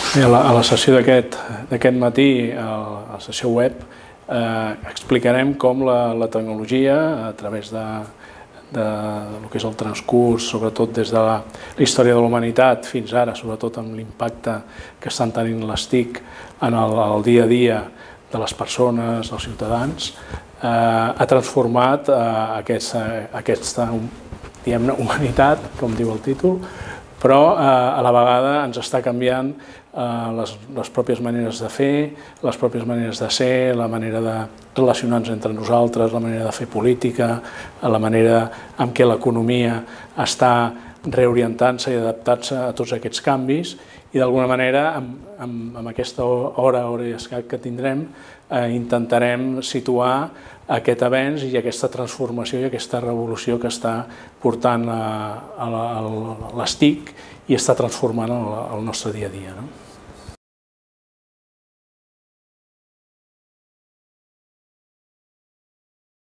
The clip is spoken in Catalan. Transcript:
Bé, a la sessió d'aquest matí, a la sessió web, explicarem com la tecnologia, a través del que és el transcurs, sobretot des de la història de la humanitat fins ara, sobretot amb l'impacte que estan tenint les TIC en el dia a dia de les persones, dels ciutadans, ha transformat aquesta humanitat, com diu el títol, però a la vegada ens està canviant les pròpies maneres de fer, les pròpies maneres de ser, la manera de relacionar-nos entre nosaltres, la manera de fer política, la manera en què l'economia està reorientant-se i adaptant-se a tots aquests canvis i d'alguna manera amb aquesta hora i escaig que tindrem intentarem situar aquest avenç i aquesta transformació i aquesta revolució que està portant les TIC i està transformant el nostre dia a dia.